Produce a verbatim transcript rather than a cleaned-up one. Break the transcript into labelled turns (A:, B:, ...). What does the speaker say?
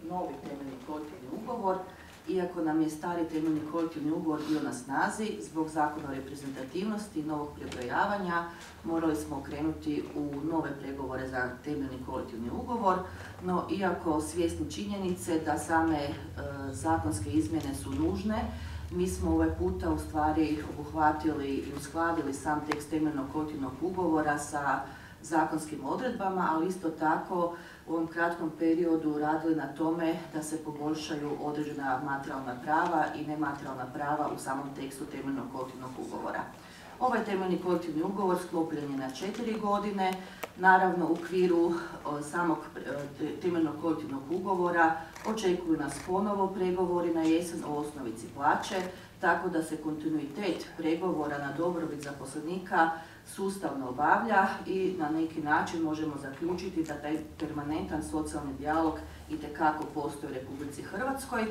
A: novi temeljni kolektivni ugovor. Iako nam je stari temeljni kolektivni ugovor bio na snazi, zbog zakona o reprezentativnosti i novog prebrojavanja morali smo krenuti u nove pregovore za temeljni kolektivni ugovor, no iako svjesni činjenice da same e, zakonske izmjene su nužne, mi smo ovaj puta u stvari obuhvatili i uskladili sam tekst temeljnog kolektivnog ugovora sa zakonskim odredbama, ali isto tako u ovom kratkom periodu radili na tome da se poboljšaju određena materijalna prava i nematerijalna prava u samom tekstu temeljnog kolektivnog ugovora. Ovaj temeljni kolektivni ugovor sklopljen je na četiri godine. Naravno, u okviru samog temeljnog kolektivnog ugovora očekuju nas ponovo pregovori na jesen o osnovici plaće, tako da se kontinuitet pregovora na dobrobit zaposlenika sustavno obavlja i na neki način možemo zaključiti da taj permanentan socijalni dijalog itekako postoji u Republici Hrvatskoj.